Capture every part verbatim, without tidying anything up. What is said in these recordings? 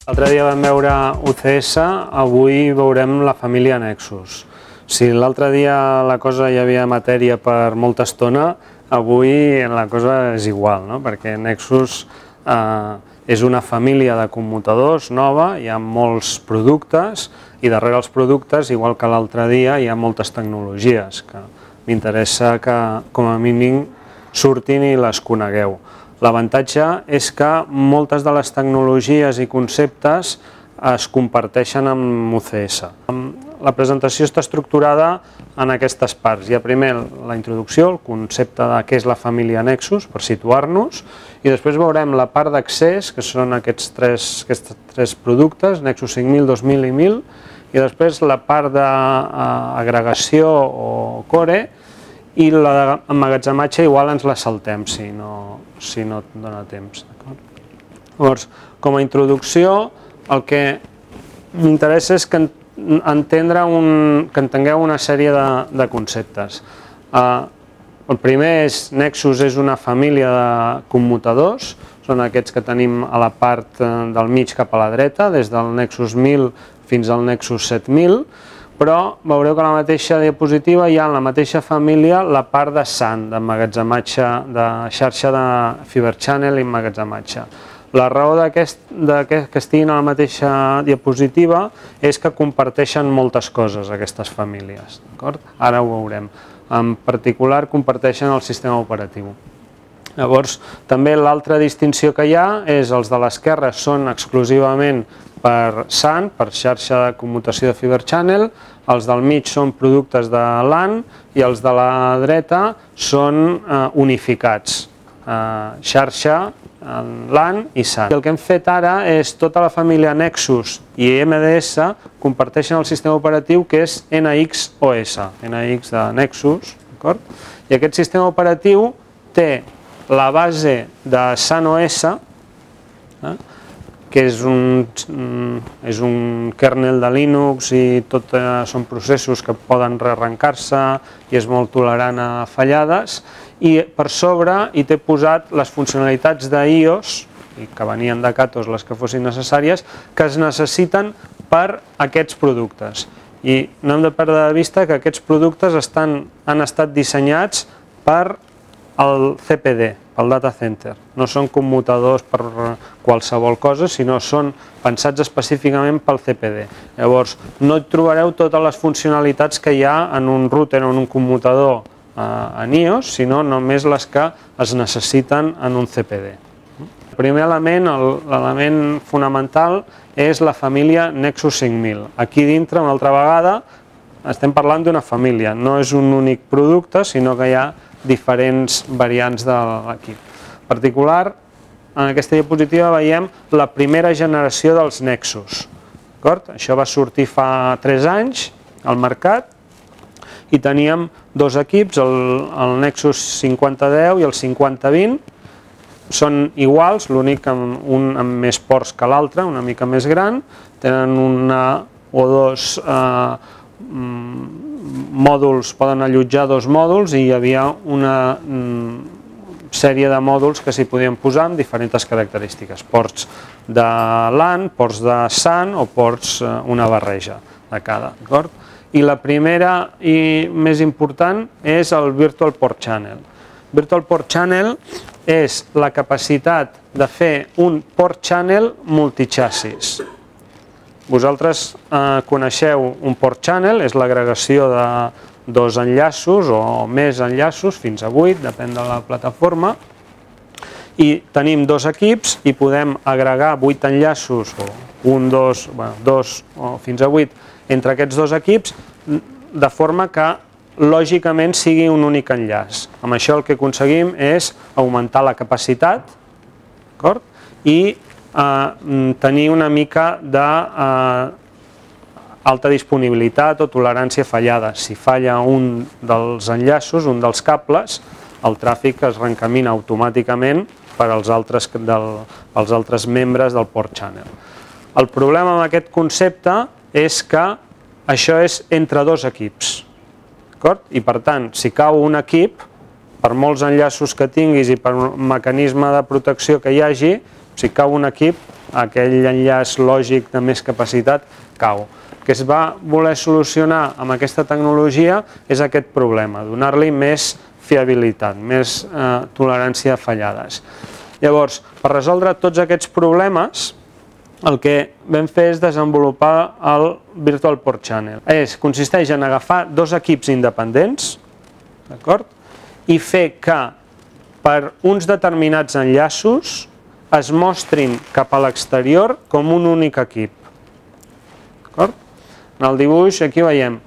L'altre dia vam veure U C S, avui veurem la família Nexus. Si l'altre dia la cosa hi havia matèria per molta estona, avui la cosa és igual, no? Perquè Nexus eh, és una família de commutadors nova, hi ha molts productes i darrere els productes, igual que l'altre dia, hi ha moltes tecnologies que m'interessa que com a mínim surtin i les conegueu. L'avantatge és que moltes de les tecnologies i conceptes es comparteixen amb U C S. La presentació està estructurada en aquestes parts. Hi ha primer la introducció, el concepte de què és la família Nexus, per situar-nos, i després veurem la part d'accés, que són aquests tres, aquests tres productes, Nexus cinc mil, dos mil i mil, i després la part d'agregació o core, i la d'emmagatzematge igual ens la saltem si no, si no et dona temps. Llavors, com a introducció, el que m'interessa és que, entendre un, que entengueu una sèrie de, de conceptes. Uh, el primer és Nexus és una família de commutadors, són aquests que tenim a la part del mig cap a la dreta, des del Nexus mil fins al Nexus set mil, però veureu que a la mateixa diapositiva hi ha en la mateixa família la part de S A N, d'emmagatzematge, de xarxa de Fiber Channel i emmagatzematge. La raó que estiguin a la mateixa diapositiva és que comparteixen moltes coses aquestes famílies. Ara ho veurem. En particular comparteixen el sistema operatiu. Llavors, també l'altra distinció que hi ha és els de l'esquerra són exclusivament per S A N, per xarxa de commutació de Fiber Channel, els del mig són productes de LAN i els de la dreta són unificats, xarxa, LAN i S A N. El que hem fet ara és tota la família Nexus i M D S comparteixen el sistema operatiu que és N X O S, N X de Nexus, i aquest sistema operatiu té la base de S A N O S, que és un, és un kernel de Linux i tot són processos que poden rearrencar-se i és molt tolerant a fallades, i per sobre hi té posat les funcionalitats d'IOS, que venien de Catos les que fossin necessàries, que es necessiten per aquests productes. I no hem de perdre de vista que aquests productes estan, han estat dissenyats per el C P D, pel data center. No són commutadors per qualsevol cosa, sinó són pensats específicament pel C P D. Llavors, no hi trobareu totes les funcionalitats que hi ha en un router o en un commutador en iOS, sinó només les que es necessiten en un C P D. El primer element, l'element fonamental, és la família Nexus cinc mil. Aquí dintre, una altra vegada, estem parlant d'una família. No és un únic producte, sinó que hi ha diferents variants de l'equip. En particular, en aquesta diapositiva veiem la primera generació dels Nexus. Això va sortir fa tres anys al mercat i teníem dos equips, el Nexus cinquanta deu i el cinquanta vint. Són iguals, l'únic que un amb més ports que l'altre, una mica més gran, tenen una o dos mòduls, poden allotjar dos mòduls i hi havia una sèrie de mòduls que s'hi podien posar amb diferents característiques, ports de LAN, ports de S A N o ports, una barreja de cada. I la primera i més important és el Virtual Port Channel. Virtual Port Channel és la capacitat de fer un port channel multichassis. Vosaltres coneixeu un port channel, és l'agregació de dos enllaços o més enllaços, fins a vuit, depèn de la plataforma, i tenim dos equips i podem agregar vuit enllaços, o un, dos, dos o fins a vuit, entre aquests dos equips, de forma que lògicament sigui un únic enllaç. Amb això el que aconseguim és augmentar la capacitat i tenir una mica d'alta disponibilitat o tolerància fallada. Si falla un dels enllaços, un dels cables, el tràfic es reencamina automàticament per als altres membres del port channel. El problema amb aquest concepte és que això és entre dos equips. I per tant, si cau un equip, per molts enllaços que tinguis i per un mecanisme de protecció que hi hagi, si cau un equip, aquell enllaç lògic de més capacitat cau. El que es va voler solucionar amb aquesta tecnologia és aquest problema, donar-li més fiabilitat, més eh, tolerància a fallades. Llavors, per resoldre tots aquests problemes, el que vam fer és desenvolupar el Virtual Port Channel. És, consisteix en agafar dos equips independents, d'acord? I fer que per uns determinats enllaços es mostrin cap a l'exterior com un únic equip. D'acord? En el dibuix aquí veiem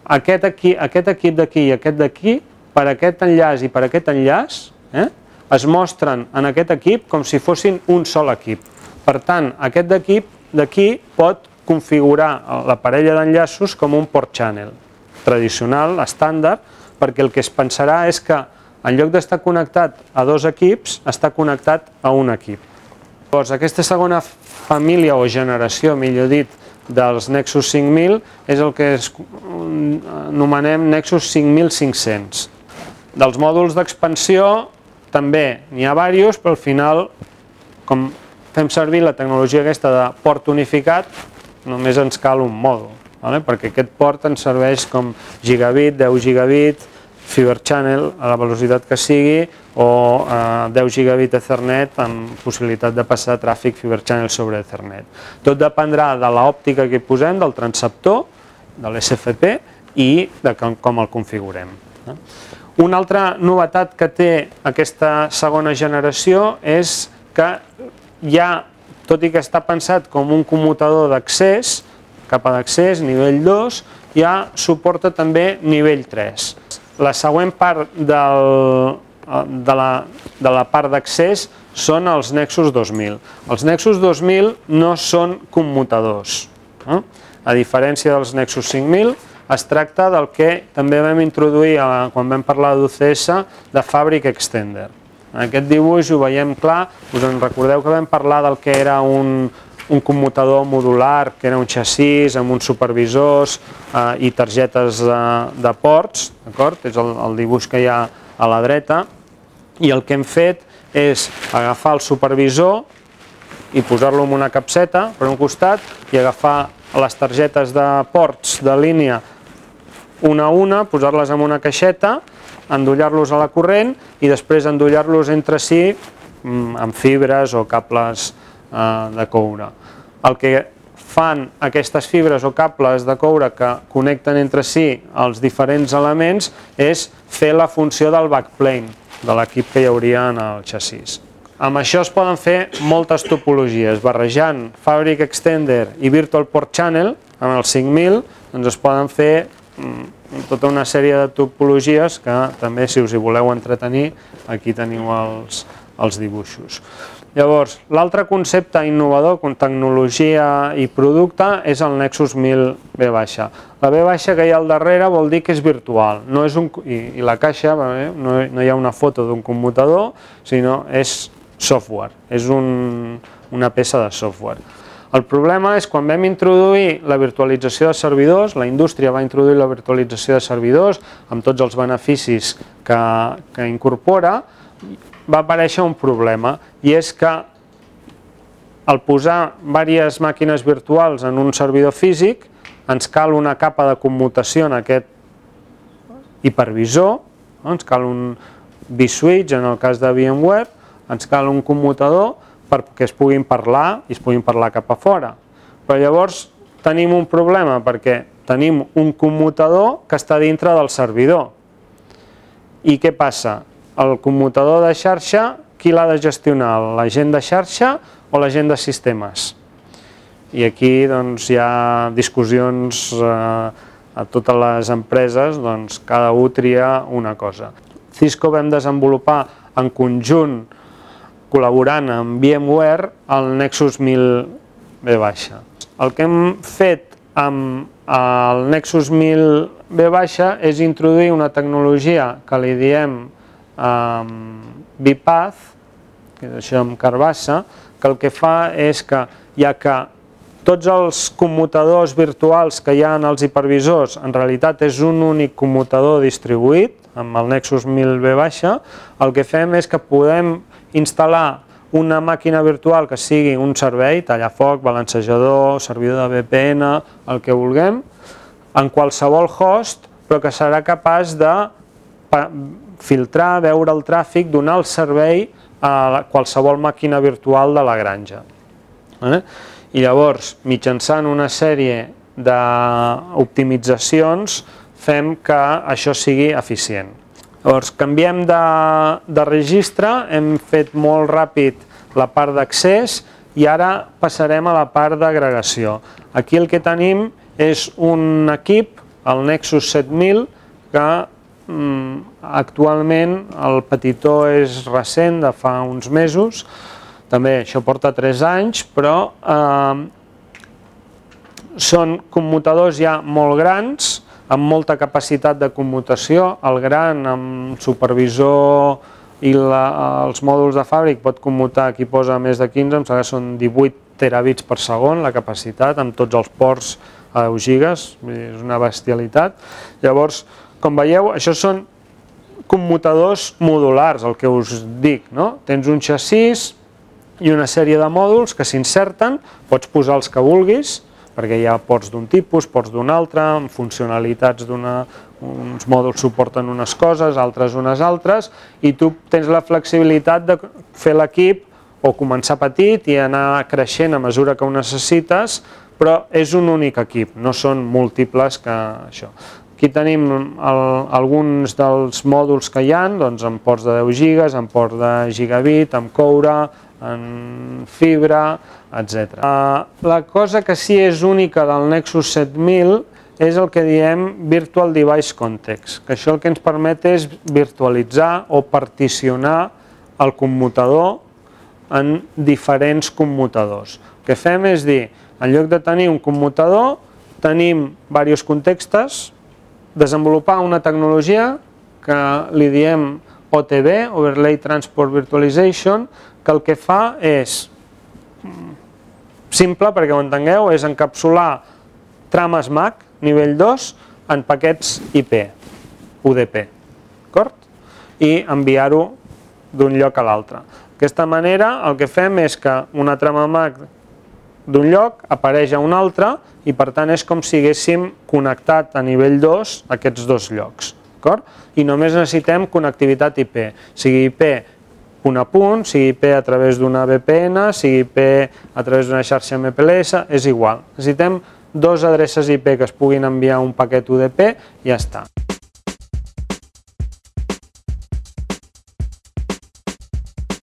aquest, aquí, aquest equip d'aquí i aquest d'aquí, per aquest enllaç i per aquest enllaç, eh, es mostren en aquest equip com si fossin un sol equip. Per tant, aquest equip d'aquí pot configurar la parella d'enllaços com un port channel tradicional, estàndard, perquè el que es pensarà és que en lloc d'estar connectat a dos equips, està connectat a un equip. Llavors, aquesta segona família o generació, millor dit, dels Nexus cinc mil és el que anomenem Nexus cinc mil cinc-cents. Dels mòduls d'expansió també n'hi ha diversos, però al final, com fem servir la tecnologia aquesta de port unificat, només ens cal un mòdul, perquè aquest port ens serveix com gigabit, deu gigabit, Fiber Channel a la velocitat que sigui o deu gigabit Ethernet amb possibilitat de passar tràfic Fiber Channel sobre Ethernet. Tot dependrà de l'òptica que hi posem, del transceptor, de l'S F P i de com el configurem. Una altra novetat que té aquesta segona generació és que ja, tot i que està pensat com un commutador d'accés, capa d'accés, nivell dos, ja suporta també nivell tres. La següent part del, de la, de la part d'accés són els Nexus dos mil. Els Nexus dos mil no són commutadors. Eh? A diferència dels Nexus cinc mil, es tracta del que també vam introduir quan vam parlar d'U C S de Fabric Extender. En aquest dibuix ho veiem clar, us en recordeu que vam parlar del que era un, un commutador modular, que era un xassís amb uns supervisors eh, i targetes de, de ports, d'acord? És el, el dibuix que hi ha a la dreta, i el que hem fet és agafar el supervisor i posar-lo en una capseta per un costat i agafar les targetes de ports de línia una a una, posar-les en una caixeta, endollar-los a la corrent i després endollar-los entre si amb fibres o cables de coure. El que fan aquestes fibres o cables de coure que connecten entre si els diferents elements és fer la funció del backplane de l'equip que hi hauria en el xassís. Amb això es poden fer moltes topologies. Barrejant Fabric Extender i Virtual Port Channel amb el cinc mil doncs es poden fer tota una sèrie de topologies que també, si us hi voleu entretenir, aquí teniu els, els dibuixos. Llavors, l'altre concepte innovador com tecnologia i producte és el Nexus mil V baixa. La V baixa que hi ha al darrere vol dir que és virtual, no és un, i, i la caixa no, no hi ha una foto d'un commutador, sinó és software, és un, una peça de software. El problema és quan vam introduir la virtualització de servidors, la indústria va introduir la virtualització de servidors amb tots els beneficis que, que incorpora, va aparèixer un problema, i és que al posar diverses màquines virtuals en un servidor físic ens cal una capa de commutació en aquest hipervisor, ens cal un vSwitch en el cas de VMware, ens cal un commutador perquè es puguin parlar i es puguin parlar cap a fora. Però llavors tenim un problema perquè tenim un commutador que està dintre del servidor. I què passa? El commutador de xarxa, qui l'ha de gestionar? La gent de xarxa o la gent de sistemes? I aquí doncs, hi ha discussions eh, a totes les empreses, doncs, cada un tria una cosa. Cisco vam desenvolupar en conjunt, col·laborant amb VMware, el Nexus mil V baixa. El que hem fet amb el Nexus mil V baixa és introduir una tecnologia que li diem vPath, que és això amb carbassa, que el que fa és que, ja que tots els commutadors virtuals que hi ha en els hipervisors en realitat és un únic commutador distribuït, amb el Nexus mil V baixa, el que fem és que podem instal·lar una màquina virtual que sigui un servei, tallafoc, balancejador, servidor de V P N, el que vulguem, en qualsevol host, però que serà capaç de filtrar, veure el tràfic, donar el servei a qualsevol màquina virtual de la granja. I llavors, mitjançant una sèrie d'optimitzacions, fem que això sigui eficient. Llavors, canviem de registre, hem fet molt ràpid la part d'accés i ara passarem a la part d'agregació. Aquí el que tenim és un equip, el Nexus set mil, que actualment el petitó és recent, de fa uns mesos, també això porta tres anys, però són commutadors ja molt grans, amb molta capacitat de commutació. El gran, amb supervisor i els mòduls de fàbric, pot commutar, aquí posa més de quinze, em sembla que són divuit terabits per segon la capacitat, amb tots els ports a deu gigas, és una bestialitat. Llavors, com veieu, això són commutadors modulars, el que us dic, no? Tens un xassís i una sèrie de mòduls que s'inserten, pots posar els que vulguis, perquè hi ha ports d'un tipus, ports d'un altre, amb funcionalitats d'una... uns mòduls suporten unes coses, altres unes altres, i tu tens la flexibilitat de fer l'equip o començar petit i anar creixent a mesura que ho necessites, però és un únic equip, no són múltiples que això. Aquí tenim alguns dels mòduls que hi ha, amb ports de deu gigas, amb ports de gigabit, amb coure, en fibra, etcètera. La cosa que sí és única del Nexus set mil és el que diem Virtual Device Context, que això el que ens permet és virtualitzar o particionar el commutador en diferents commutadors. El que fem és dir, en lloc de tenir un commutador, tenim diversos contextes, desenvolupar una tecnologia que li diem O T V, Overlay Transport Virtualization, que el que fa és, simple perquè ho entengueu, és encapsular trames M A C nivell dos en paquets I P, U D P, d'acord? I enviar-ho d'un lloc a l'altre. D'aquesta manera el que fem és que una trama M A C d'un lloc apareix a un altre i per tant és com si haguéssim connectat a nivell dos aquests dos llocs. I només necessitem connectivitat I P, sigui I P punt a punt, sigui I P a través d'una V P N, sigui I P a través d'una xarxa M P L S, és igual. Necessitem dues adreces I P que es puguin enviar un paquet U D P i ja està.